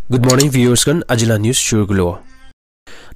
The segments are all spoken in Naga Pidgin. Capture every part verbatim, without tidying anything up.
Good morning, viewers khan. Ajila news shuru kulo.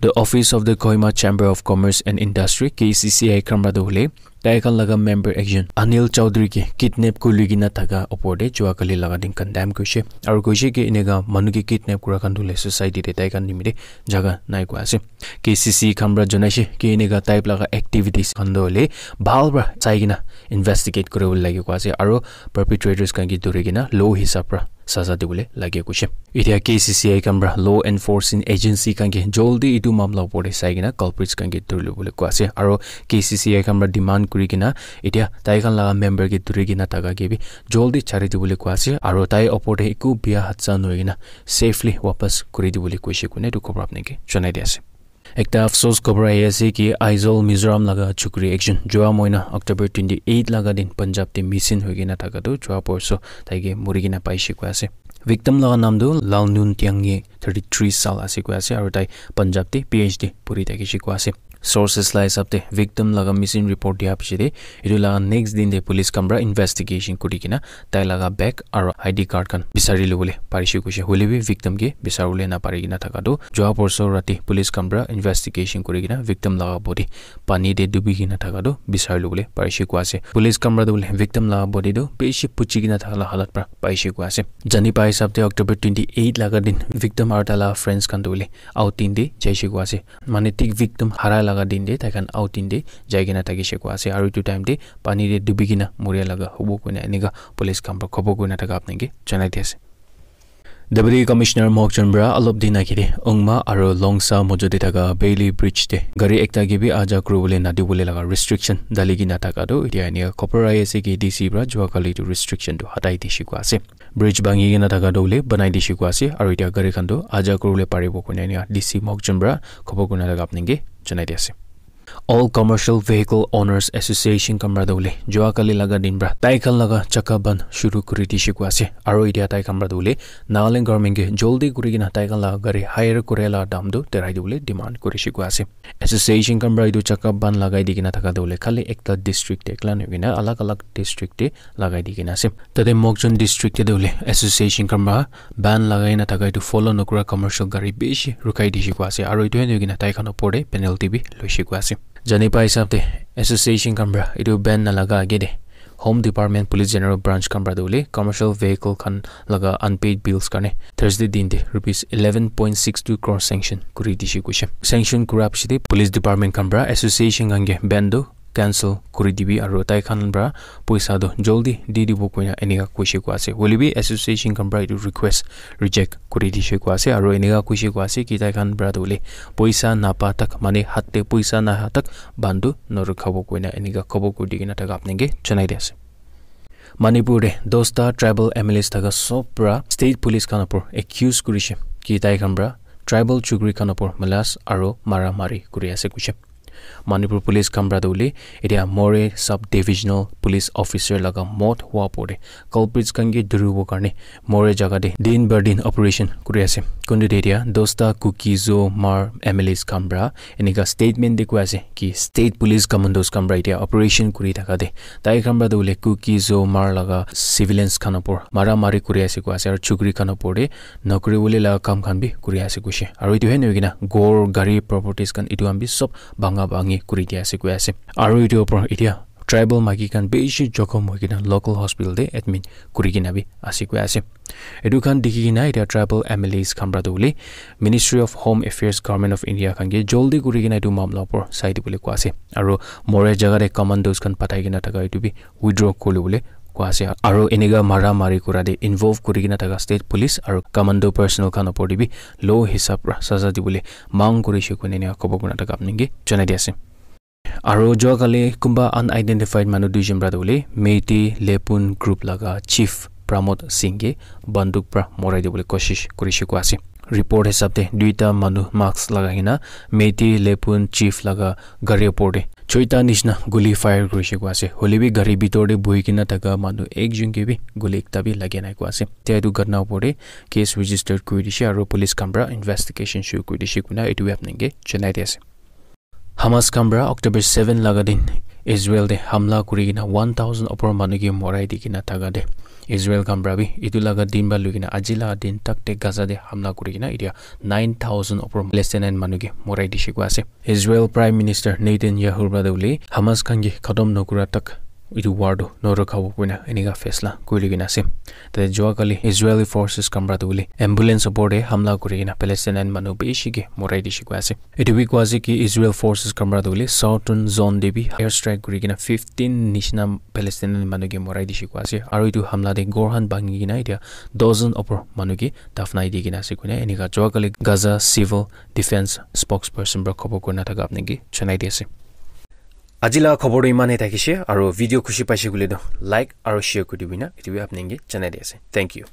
The office of the Kohima Chamber of Commerce and Industry, K C C I, khan para tu hoile tai khan laga member ekjon Anil Chaudhary ke kidnap kuri kena thaka opor te jua kali laga din condemn kurishe aru kuishe ki eneka manu ke kidnap kura khan tu hoile society te tai khan nimite jaga nai koi ase. K C C I khan para janaishe ki eneka type laga activities khan tu hoile bhal para sai kena investigate kuri bole lage koi ase aru perpetrators khan ke dhuri kena law hisab para saza dibole lage kuishe. Etia K C C I khan para law enforcing agency khan ke joldi etu mamla opor te sai kena culprits khan ke dhuri bole koi ase aru K C C I khan para demand kuri kena etia tai khan laga member ke dhuri kena thaka ke bi joldi chari dibole koi ase aru tai opor te eku bia hadsa nohoi kena safely wapas kuri dibole kuishe koina etu khobor apni ke janai di ase. Ekta afsos khobor ahi ase ki Aizawl Mizoram laga chukri ekjon jua moina October twenty eight laga din Punjab te missing hoi kena thaka tu jua porso tai ke muri kena paishe koi ase. Victim laga naam tu Lalnun Tiange, thirty three sal ase koi ase aru tai Punjab te P H D puri thakishe koi ase. Sources la hisab te victim laga missing report dia piche te etu laga next din te police khan para investigation kuri kena tai laga bag aru I D card khan bisari lobole parishe kuishe hoile bi victim ke bisaribole napari kena thaka tu jua porso rati police khan para investigation kuri kena victim laga body pani te dubi kena thaka tu bisari lobole parishe koi ase. Police khan para tu hoile victim laga body tu bishi puchi kena thaka la halat para paishe koi ase. Jani pai hisab te October twenty eight laga din victim aru tai laga friends khan tu hoile outing te jaishe koi ase. Mane thik victim harai laga din te tai khan outing te jai kena thakishe koi ase aru etu time te pani te dubi kena muria laga hobo koina eneka police khan para khobor koina thaka apni ke janai di ase. Deputy Commissioner Mokchon para alop din age te Ongma aru Longsa mojo te thaka Bailey Bridge te gari ekta ke bi aja kuri bole na di bole laga restriction dali kena thaka tu etia eneka khobor ahi ase ki D C para jua kali tu restriction tu hatai dishe koi ase. Bridge bhangi kena thaka tu hoile banai dishe koi ase aru etia gari khan tu aja kuri bole paribo koina eneka D C Mokchon para khobor koina thaka apni ke janai di ase. All Commercial Vehicle Owners Association khan para tu hoile jua kali laga din para tai khan laga chakka bandh shuru kuri dishe koi ase aru etia tai khan para tu hoile Nagaland government ke joldi kuri kena tai khan laga gari hire kure la dam tu terai dibole demand kurishe koi ase. Association khan para etu chakka bandh lagai di kena thaka tu hoile khali ekta district te ekla nohoi kena alag alag district te lagai di kena ase. Tate Mokchon district te tu hoile association khan para bandh lagai na thaka etu follow nokura commercial gari bishi rukhai dishe koi ase aru etu he nohoi kena tai khan opor te penalty bi loishe koi ase. Jani pai hisab te association khan para etu bandh na laga age te Home Department Police General Branch khan para tu hoile commercial vehicle khan laga unpaid bills karne Thursday din te rupees eleven point six two crore sanction kuri dishe kuishe. Sanction kura piche te police department khan para association khan ke bandh tu cancel kuri dibi aru tai khan para poisa tu joldi di dibo koina eneka kuishe koi ase. Hoile bi association khan para etu request reject kuri dishe koi ase aru eneka kuishe koi ase ki tai khan para tu hoile poisa napa tak mane hat te poisa naha tak bandh tu norukhabo koina eneka khobor kuri di kena thaka apni ke janai di ase. Manipur te dosta tribal M L As thaka sob para state police khan opor accuse kurishe ki tai khan para tribal chukri khan opor malas aru mara mari kuri ase kuishe. Manipur police khan para tu hoile etia Moreh sub divisional police officer laga mot hua opor te culprits khan ke dhuribo karne Moreh jaga te din bar din operation kuri ase. Kuntu te etia dosta Kuki Zo Hmar M L As khan para eneka statement te koi ase ki state police commandos khan para etia operation kuri thaka te tai khan para tu hoile Kuki Zo Hmar laga civilians khan opor mara mari kuri ase koi ase aru chukri khan opor te nokri bole laga kam khan bi kuri ase kuishe. Aru etu he nohoi kena ghor, gari, properties khan etu khan bi sob bhanga bhangi kuri dia ase koi ase. Aru etu opor etia tribal maiki khan bishi jokhom hoi kena local hospital te admit kuri kena bi ase koi ase. Etu khan dikhi kena etia tribal M L As khan para tu hoile Ministry of Home Affairs, Government of India khan ke joldi kuri kena etu mamla opor sai dibole koi ase. Aru Moreh jaga te commandos khan pathai kena thaka etu bi withdraw kuri bole koi ase. Aru eneka mara mari kura te involve kuri kena thaka state police aru commando personnel khan opor te bi law hisab para saza dibole mang kurishe koina eneka khobor koina thaka apni ke janai di ase. Aru jua kali kunba unidentified manu duijon para tu hoile Meitei Lepun group laga chief Pramod Singh ke banduk para morai dibole koshish kurishe koi ase. Report hisab te duita manu mask lagai kena Meitei Lepun chief laga gari opor te choita nishina guli fire kurishe koi ase. Hoile bi gari bitor te buhi kena thaka manu ekjon ke bi guli ekta bi lagi nai koi ase. Tia etu ghotna opor te case registered kuri dishe aru police khan para investigation shuru kuri dishe koina etu bi apni ke janai di ase. Hamas khan para October seven laga din Israel te hamla kuri kena one thousand opor manu ke morai di kena thaka te Israel khan para bi etu laga din para lui kena aji laga din tak te Gaza te hamla kuri kena etia nine thousand opor Palestinian manu ke morai dishe koi ase. Israel Prime Minister Netanyahu para tu bole Hamas khan ke khatam nokura tak etu war tu norokha bo koina enika faisla kuri kena ase. Te jua kali Israeli forces khan para tu bole ambulance opor te hamla kuri kena Palestinian manu bishi ke morai dishe koi ase. Etu bi koi ase ki Israel forces khan para tu bole southern zone te bi air strike kuri kena fifteen nishina Palestinian manu ke morai dishe koi ase. Aru etu hamla te ghor khan bhangi kena etia dozen opor manu ke dafnai di kena ase koina enika jua kali Gaza civil defense spokesperson para khobor kurina thaka apni ke janai di ase. Aji laga khobor tu iman he thakishe, aru video khushi paishe koile tu like aru share kuri dibina, etu bi apni ke janai di ase. Thank you.